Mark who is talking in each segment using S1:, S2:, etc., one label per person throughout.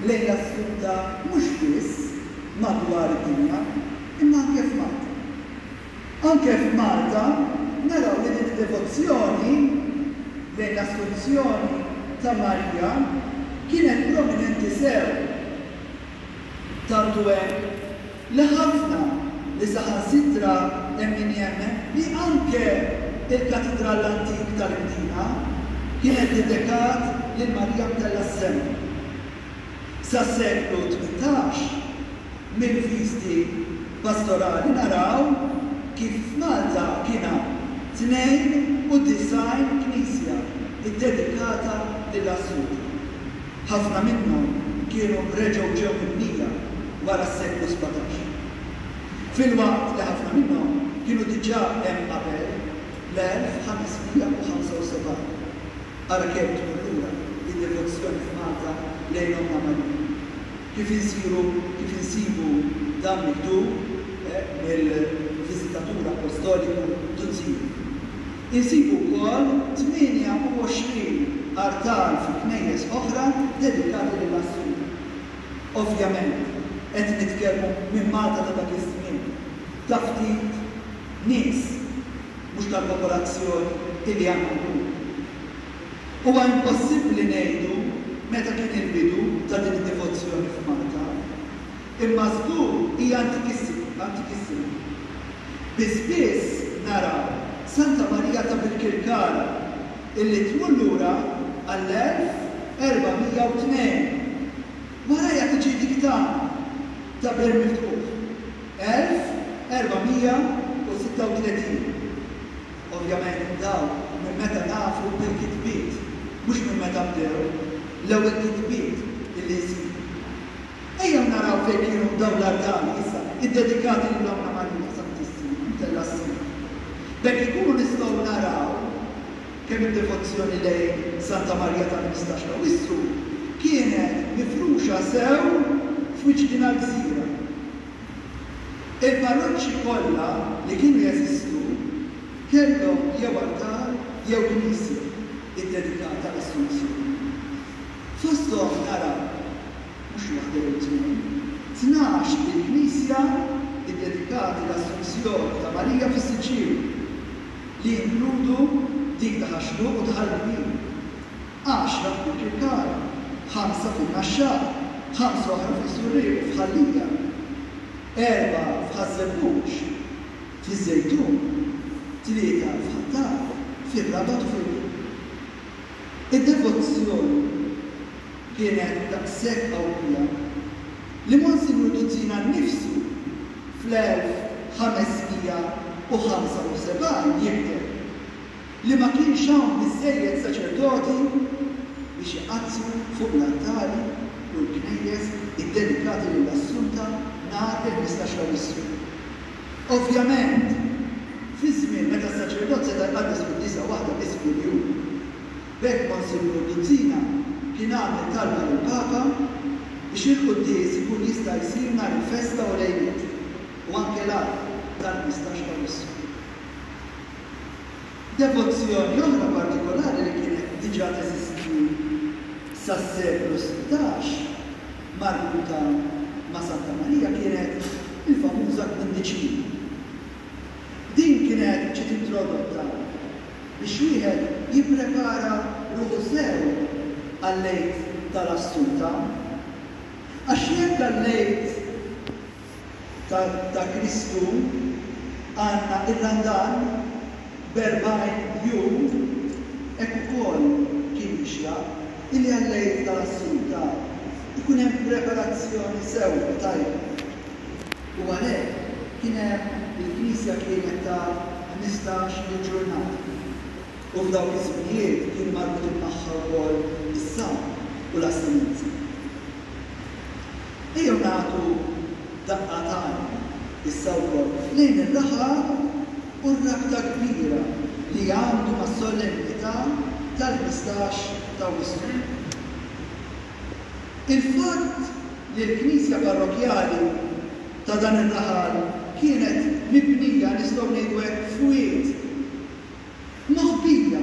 S1: lejn l-Assunta mhux biss madwar id-dinja, imma anke f'Malta. Anke f'Malta naraw li din id-devozzjoni lejn l-Assunzjoni ta' Marija kienet prominenti sew. Tant hu hekk li ħafna li saħansitra hemm min jemmen li anke l-Katidral l-antik tal-Imdina kienet dedekat lil Marija Mtellgħa s-Sema. Sas-seklu 18, mill-viżti pastorali naraw kif f'Malta kien hawn 92 knisja ddedikata lill-Assunta. Ħafna minnhom kienu reġgħu ġew mibnija wara s-seklu 17. Filwaqt li ħafna minnhom kienu diġà hemm qabel l-1575. Ara kemm tmur lura d-devozzjoni f'Malta lejn Ommna Marija. Kif insiru, kif insibu dan miktub mill-Viżitatur Appostoliku Duzzini. Insibu wkoll 28 artal fi knejjes oħra dedikati lill-Assunta. Ovvjament, qed nitkellmu minn Malta ta' dak iż-żmien, ta' ftit nies, mhux tal-popolazzjoni illi għandna llum. Huwa impossibbli ngħidu meta kien il-bidu ta' din id-devozzjoni f'Malta, imma żgur hija antikissima. Bi spiss naraw Santa Marija ta' Birkirkara illi tmur lura għall-1402. Warajha tiġi dik tagħna ta' Bir Miftuħ, 1436. Ovvjament dawn minn meta nafu bil-kitbiet, mhux minn meta bdew l-ewwel kitbiet illi nsibu. Ejjew naraw fejn kienu dawn l-artali issa iddedikati lil Ommna Marija Santissima mtellgħa s-sema. B'hekk inkunu nistgħu naraw kemm id-devozzjoni lejn Santa Marija tal-15 t'Awwissu kienet mifruxa sew f'wiċċ din l-gżira. Il-parroċċi kollha li kienu jeżistu kellhom jew artal jew knisja ddedikata għall-Assunzjoni. Fosthom naraw, mhux waħda jew tnejn, 12 il-knisja ddedikati l-Assunzjoni ta' Marija fis-Siġġiewi, li jinkludu dik ta' Ħax-Xluq u ta' Ħal Kbir, għaxra f'Birkirkara, ħamsa fin-Naxxar, ħamsa oħra fiż-Żurrieq u f'Ħal Lija, erbgħa f'Ħaż-Żebbuġ, fiż-Żejtun, tlieta f'Ħ'Attard, fir-Rabat u fil-Birgu. Id-devozzjoni kienet daqshekk qawwija li Monsinjur Duzzina nnifsu fl-1575 jikteb li ma kienx hawn biżżejjed saċerdoti biex iqaddsu fuq l-altari u l-knejjes iddedikati lill-Assunta nhar il-15 t'Awwissu. Ovvjament, fi żmien meta s-saċerdot seta' jqaddes quddiesa waħda biss kuljum. B'hekk Monsinjur Duzzina kien għamel talba lill-Papa biex il-quddies ikun jista' jsir nhar il-festa u lejliet, u anke l-għada tal-15 t'Awwissu. Devozzjoni oħra partikolari li kienet diġà teżisti sas-seklu 16 marbuta ma' Santa Marija kienet il-famuża kwindiċina. Din kienet ġiet introdotta biex wieħed jipprepara ruħu sew għall-Għid tal-Assunta. Għax jekk għall-Għid ta' ta' Kristu għandna r-Randan b'erbgħin jum, hekk ukoll kien jixraq illi għall-Għid tal-Assunta jkun hemm preparazzjoni sewwa tajba. U għalhekk kien hemm il-Knisja kienet ta' 15 il-ġurnata. U f'dawk iż-żminijiet kienu marbutin magħha wkoll is-sawm u l-astinenza. Ejjew nagħtu daqqa t'għajn issa wkoll lejn ir-raħal u r-rabta kbira li għandu mas-solennità tal-15 t'Awwissu. Il-fatt li l-knisja parrokkjali ta' dan ir-raħal kienet mibnija, nistgħu ngħidu hekk, f'wied moħbija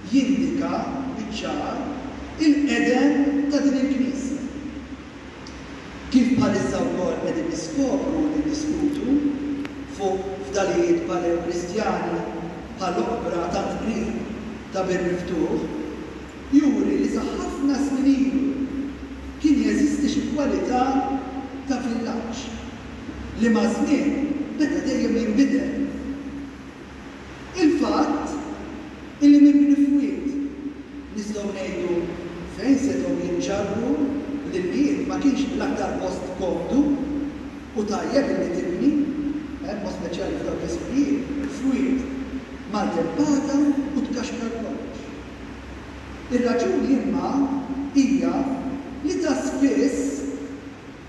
S1: jindika biċ-ċar il-qedem ta' din il-knisja. Kif bħalissa wkoll qegħdin niskopru u niddiskutu fuq fdalijiet Paleo-Kristjani bħall-oqbra tant qrib ta' Bir Miftuħ, juri li sa ħafna snin ilu kien jeżisti xi kwalità ta' villaġġ li maż-żmien beda dejjem jinbidel. Il-fatt illi mibni f'wied, nistgħu ngħidu fejn setgħu jinġarru l-ilmijiet ma kienx l-aktar post komdu u tajjeb illi tibni, b'mod speċjali f'dawk iż-żminijiet, f'wied, maltempata u tkaxkar kollox. Ir-raġuni imma hija li ta' spiss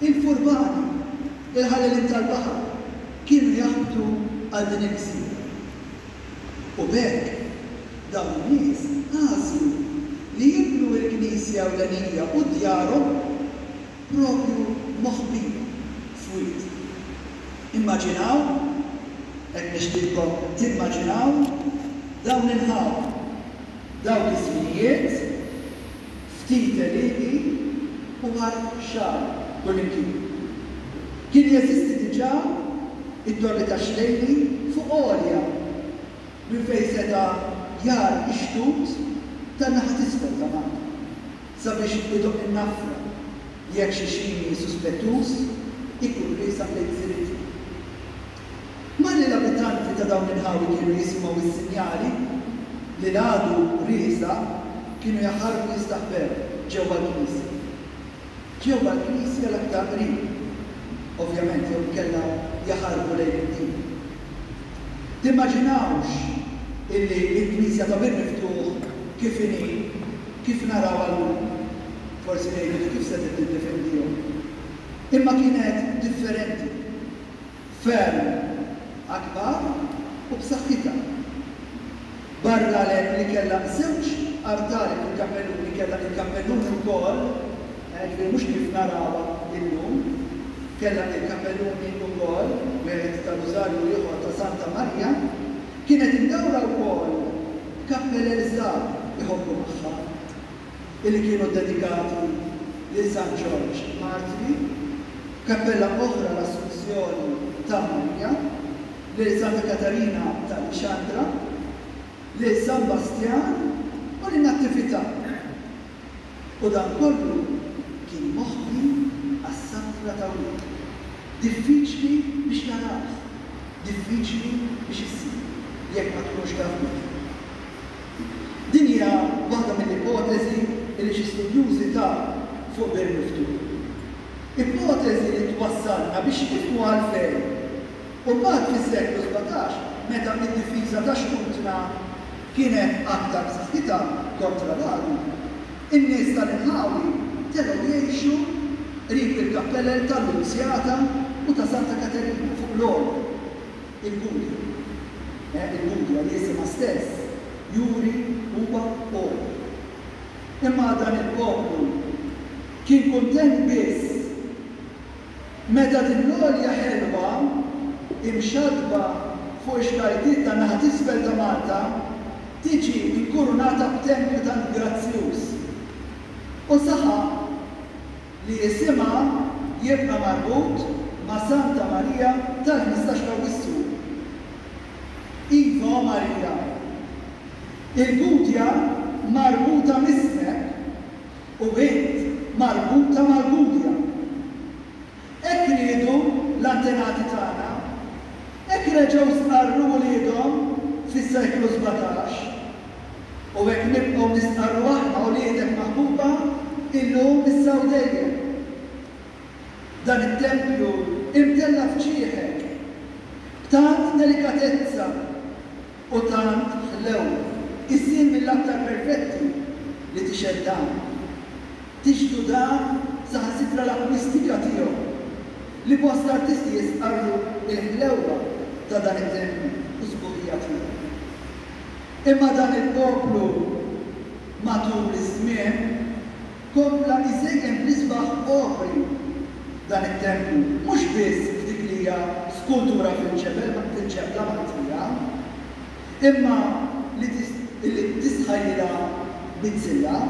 S1: Il-furbani, il-ħallelin tal-baħar, kienu jaħbtu għal din il-gżira. U b'hekk, dawn in-nies għażlu li jibnu l-knisja ewlenija u djarhom proprju moħbija f'wied. Immaġinaw, hekk nixtieqkom timmaġinaw, dawn l-inħawi, dawk iż-żminijiet, Ftit għelieqi u art xagħri kullimkien. Kien jeżisti diġà it-Torri tax-Xlejli fuq għolja minn fejn seta' jar ix-xtut tan-naħa t'isfel ta' Malta sabiex idoqq in-nafra jekk xi xini suspettuż ikun riesaq lejn gżiritna. Malli l-abitanti ta' dawn l-inħawi kienu jisimgħu s-sinjali li l-għadu riesaq, kienu jaħarbu jistaħbew ġewwa l-knisja. Ġewwa l-knisja l-aktar qrib, ovvjament, jew inkella jaħarbu lejn id-djar. Timmaġinawx illi l-knisja ta' Bir Miftuħ kif inhi, kif narawha llum, forsi ngħidu li kif setgħet tiddefendihom. Imma kienet differenti. Ferm akbar u b'saħħitha. Barra l li kellha żewġ artali fil-kappelluni, kellha il-kappelluni wkoll, jiġifieri mhux kif narawha illum, kellha il-kappelluni wkoll, wieħed tar-Rużarju u ieħor ta' Santa Marija, kienet imdawra wkoll b'kappelel żgħar iħobbu magħha. illi kienu ddedikati lil San Ġorġ Martri, kappella oħra l-Assunzjoni ta' Marija, lil Santa Katarina ta' Lixandra, lil San Bastjan u lin-Nattività. U dan kollu kien moħbi għas-safra ta' wieħed, diffiċli biex tarah, diffiċli biex issibu jekk ma tkunx taf bih. Din hija waħda mill-ipoteżi li xi studjużi taw fuq Bir Miftuħ. Ipoteżi li twassalna biex nifhmu għalfejn u mbagħad fis-seklu 17 meta d-difiża ta' xtutna kienet aktar b'saħħitha kontra l-għadu, in-nies tal-inħawi telgħu jgħixu qrib il-kappelel tal-Lunzjata u ta' Santa Katerina fuq l-għolja. Il-Gudja. Eh, il-Gudja li isimha stess juri huwa għoli. Imma dan il-poplu kien kuntent biss meta din l-għolja ħelwa imxaddba fuq ix-xtajtiet tan-naħa t'isfel ta' Malta tiġi nkurunata b'tempju tant grazzjuż. U saħaq li isimha jibqa' marbut ma' Santa Marija tal-15 t'Awwissu. Iva, o Marija, il-Gudja marbuta m'ismek u int marbuta mal-Gudja. Hekk riedu l-antenati tagħna. Hekk reġgħu stqarru uliedhom fis-seklu 17. U hekk nibqgħu nistqarru aħna uliedek maħbuba illum, issa u dejjem. Dan it-tempju imtella' f'ġieħek b'tant delikatezza u tant ħlewwa, isir mill-aktar perfetti li tixhed dan. Tixhdu dan saħansitra l-akwistika tiegħu, li bosta artisti jistqarru l-ħlewwa ta' dan it-tempju u s-sbuħija tiegħu. Imma dan il-poplu matul iż-żmien kompla jżejjen bl-isbaħ opri dan it-tempju, mhux biss f'dik li hija skultura fil-ġebel fil-ġebla Maltija, imma li li tistħajjilha bizzilla,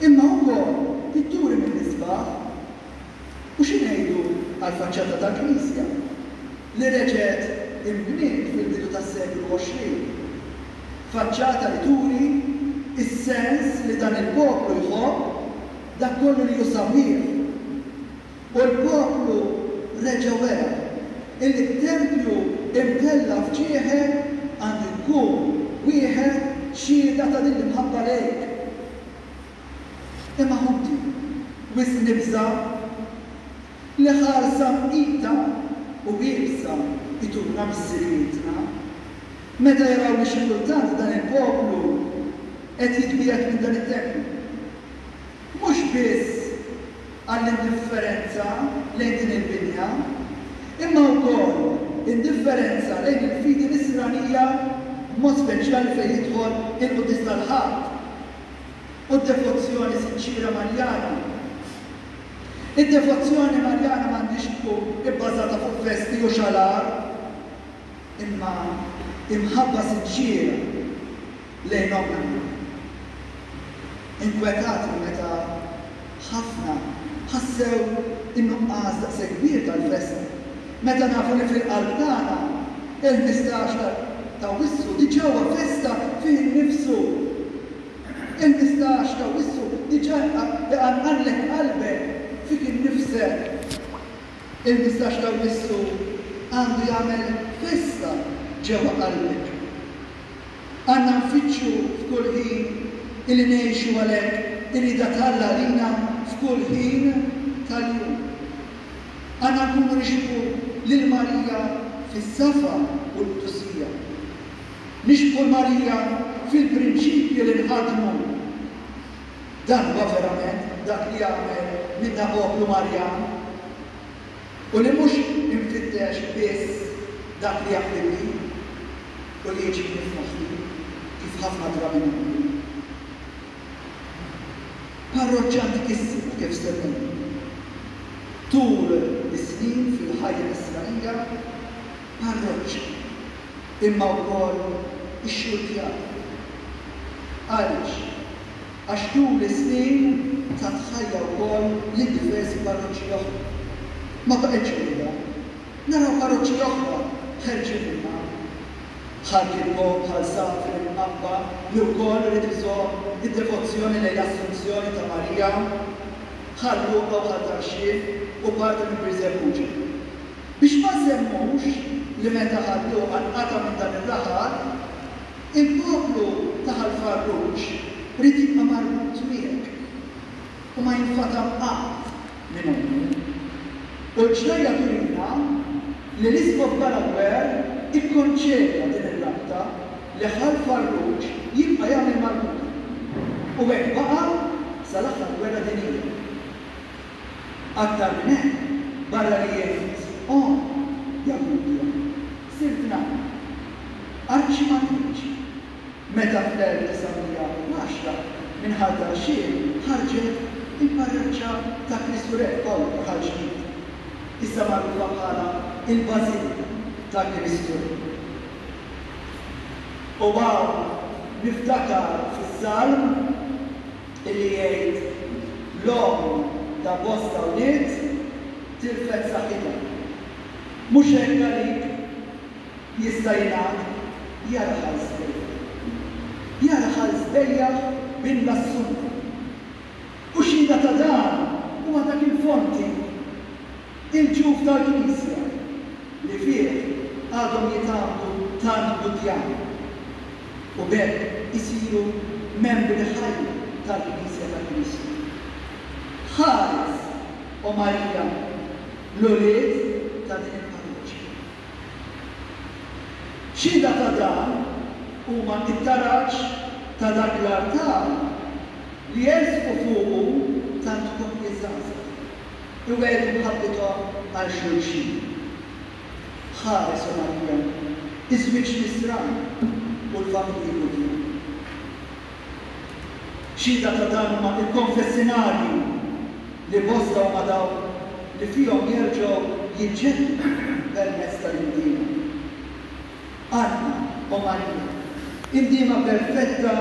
S1: imma wkoll pitturi mill-isbaħ. U xi. għall-faċċata tal-knisja li reġgħet inbniet fil-bidu tas-seklu 20. Faċċata li turi s-sens li dan il-poplu jħobb dak kollu li hu sabiħ. U l-poplu reġa' wera illi t-tempju imtella' f'ġieħek għandu jkun wieħed xhieda ta' din l-imħabba lejk. Imma ħuti, wisq nibża' li ħarsa mqita u iebsa jtuna missirijietna, meta jaraw li xi kultant dan il-poplu qed jitbiegħed minn dan it-tempju. Mhux biss għall-indifferenza lejn din il-binja, imma wkoll indifferenza lejn il-fidi Nisranija b'mod speċjali fejn jidħol il-Quddies tal-Ħadd u d-devozzjoni sinċiera Marjana. Id-devozzjoni Marjana m'għandhiex tkun ibbażata fuq festi u xalar, imma imħabba sinċiera lejn Ommna Marija. Inkwetatni meta ħafna ħassew in-nuqqas daqshekk kbir tal-festa, meta nafu li fil-qalb tagħna il-ħmistax t'Awwissu diġà huwa festa fih innifsu. Il-ħmistax t'Awwissu diġà iqanqanlek qalbek fik innifsek. Il-ħmistax t'Awwissu għandu jagħmel festa ġewwa qalbek. Għandna nfittxu f'kull ħin illi ngħixu għalhekk ir-rieda t'Alla għalina f'kull ħin tal-jum. Għandna nkunu nixbhu lil Marija fis-safa u l-qdusija. Nixbhu 'l Marija fil-prinċipji li nħaddnu. Dan huwa verament dak li jagħmel minna poplu Marjan. U li mhux infittex biss dak li jaqlibni u li jiġini f'moħħi, kif ħafna drabi nagħmlu. Parroċċa antikissima kif semmejna. Tul is-snin fil-ħajja Nisranija, parroċċa, imma wkoll ixxurtjata. Għaliex? Għax tul is-snin tat ħajja wkoll lil diversi parroċċi oħra. Ma baqgħetx waħedha. Naraw parroċċi oħra ħerġin minnha. Bħal Kirkop, Ħal Safi, l-Imqabba li wkoll ried iżomm id-devozzjoni lejn l-Assunzjoni ta' Marija, Ħal Luqa u Ħal Tarxien u parti minn Birżebbuġa. Biex ma nsemmux li meta Ħal Luqa nqata' minn dan ir-raħal, Il-poplu ta' Ħal Farruġ ried jibqa' marbut miegħek u ma jinfatam qatt minn ommu. U l-ġrajja turina li l-Isqof Balaguer ikkonċeda din ir-rabta li Ħal Farruġ jibqa' jagħmel marbuta. U hekk baqa' sal-aħħar gwerra dinjija. Aktar minn hekk, barra li int omm, ja Gudja, sirt nanna. Arċimatriċi. Meta fl-1910 minn Ħal Tarxien ħarġet il-parroċċa ta' Kristu Re f'Pawl Raħal Ġdid, issa magħrufa bħala l-Bażilika ta' Kristu Re. U hawn niftakar fis-Salm illi jgħid, L-omm ta' bosta wlied tilfet saħħitha. Mhux hekk għalik? Jista' jingħad, Ja raħal sbejjaħ. Ja raħal sbejjaħ bin l-Assunta. U xhieda ta' dan huwa dak il-fonti, il-ġuf tal-knisja, li fih għadhom jitgħammdu tant Gudjani u b'hekk isiru membri ħajja tal-Knisja ta' Kristu. Ħares, O Marija, l-ulied ta' din il-parroċċa. Xhieda ta' dan huma t-taraġ ta' dak l-artal li jersqu fuqu tant koppji żgħażagħ, iwiegħdu mħabbithom għal xulxin. Ħares, o Marija, iż-żwieġ nisrani u l-familji Gudjani. Xhieda ta' dan huma l-konfessinarji li bosta huma dawk li fihom jerġgħu jiġġeddu permezz tal-indiema. Anna, o Marija, indiema perfetta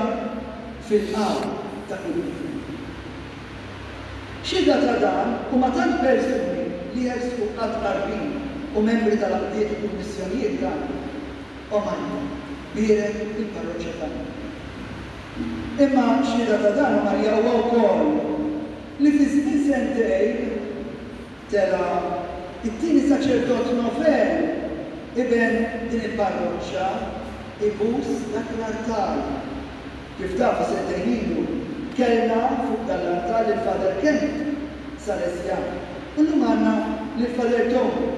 S1: fil-qalb ta' kull bniedem. Xhieda ta' dan huma tant persuni. li jersqu għat-tqarbin u membri tal-għaqdiet u kummissjonijiet tagħna. O Marija, bierek il-parroċċa tagħna. Imma xhieda ta' dan, o Marija, huwa wkoll li fi żmien sentejn tela' t-tieni saċerdot novell iben din il-parroċċa ibus dak l-artal. Kif tafu sentejn ilu kellna fuq dan l-artal lil Father Kenneth, Salesjan, u llum għandna lil Father Tony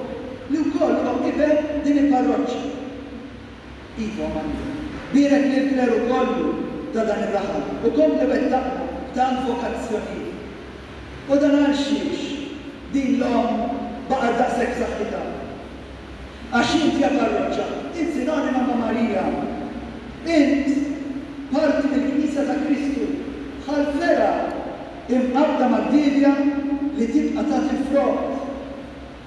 S1: li wkoll huwa iben din il-parroċċa. Iva, Marija, bierek lill-kleru kollu ta' dan ir-raħal u kompli wettaqna b'tant vokazzjonijiet. U dan għal xiex din l-omm baqgħet daqshekk b'saħħitha? Għax int ja parroċċa, int sinonima ma' Marija. Int parti mill-Knisja ta' Kristu, bħal fergħa imqabbda mad-dielja li tibqa' tagħti l-frott.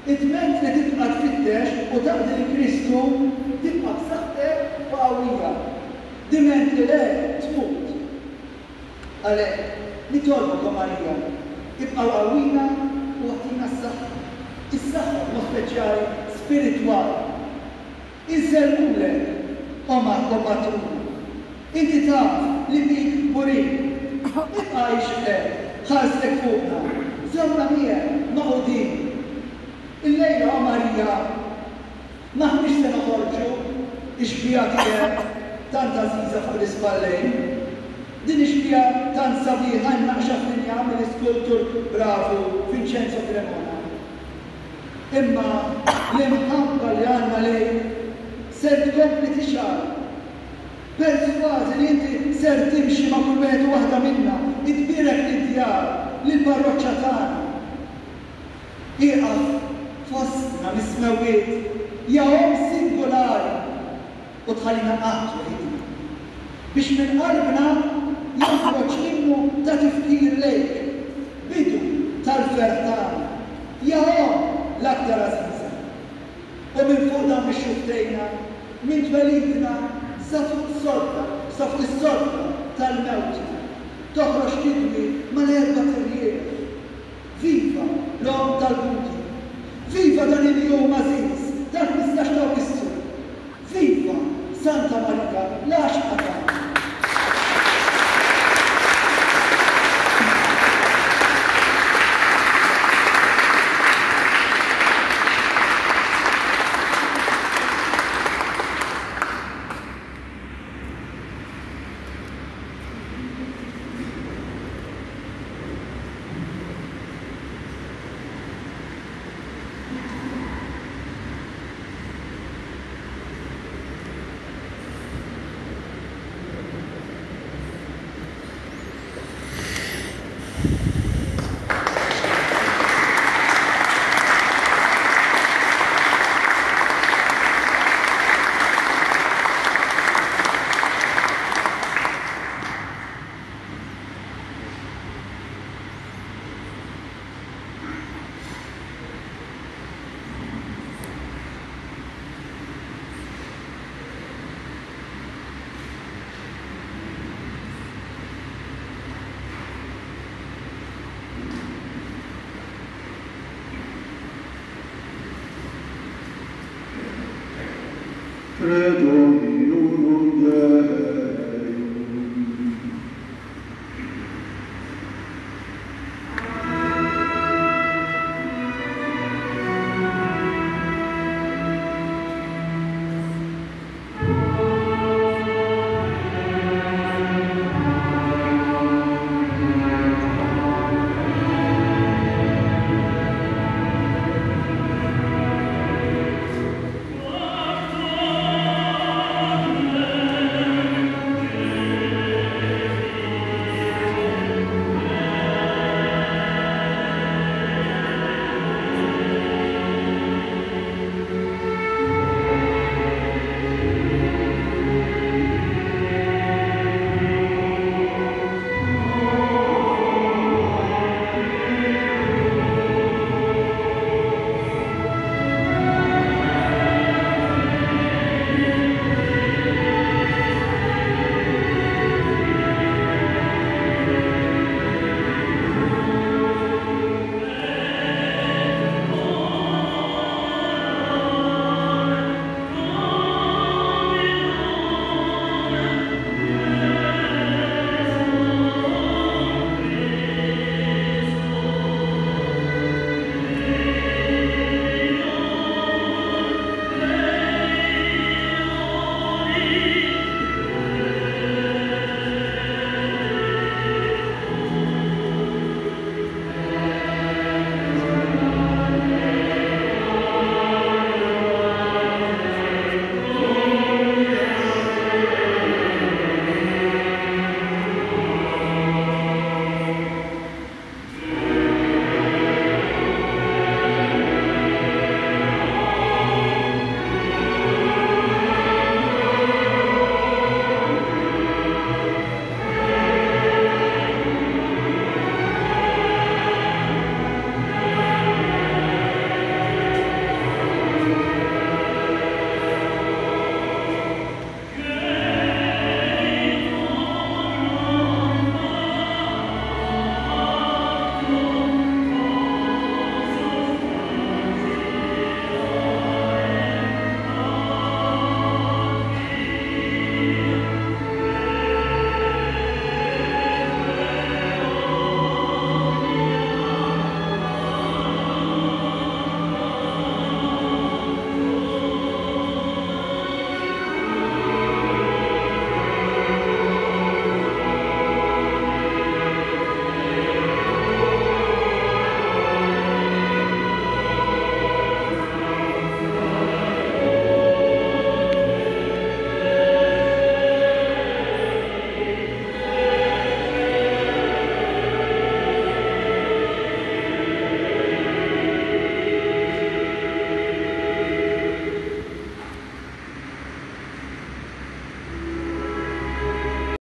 S1: Id-dment li tibqa' tfittex u taqdi lil Kristu, tibqa' b'saħħtek u qawwija. Diment li le, tmut. Għalhekk, nitolbok, o Marija, ibqgħu qawwina u agħtina s-saħħa, is-saħħa b'mod speċjali spiritwali. Insellmulek, o o Patruna. Inti taf li bik kburin. Ibqa' għix hekk, ħarstek fuqna, żommna miegħek magħqudin. Illejla, o Marija, M'aħniex se noħorġu x-xbieha tiegħek tant għażiża fuq l-ispallejn. Din ix-xbieha tant sabiħa imnaqqxa fl-injam mill-iskultur bravu Vincenzo Cremona. Imma l-imħabba li għandna lejk ser tkompli tixgħal. Persważi li inti ser timxi ma' kull wieħed u waħda minna, tbierek lid-djar, lill-parroċċa tagħna. Ieqaf fostna mis-smewwiet, ja Omm singulari, u tħallina qatt weħidna, biex minn qalbna joħroġ innu ta' tifkir lejk, bidu tal-ferħ tagħna, ja Omm l-aktar għażiża. U minn fuq dawn ix-xufftejna, minn twelidna sa fuq sodda, sa fuq is-sodda tal-mewtna, toħroġ tidwi mal-erbat irjieħ. Viva l-Omm tal-Gudi! Viva dan il-jum għażiż tal-15 t'Awwissu! Viva Santa Marija l-għaxqa tagħna!
S2: Credo in.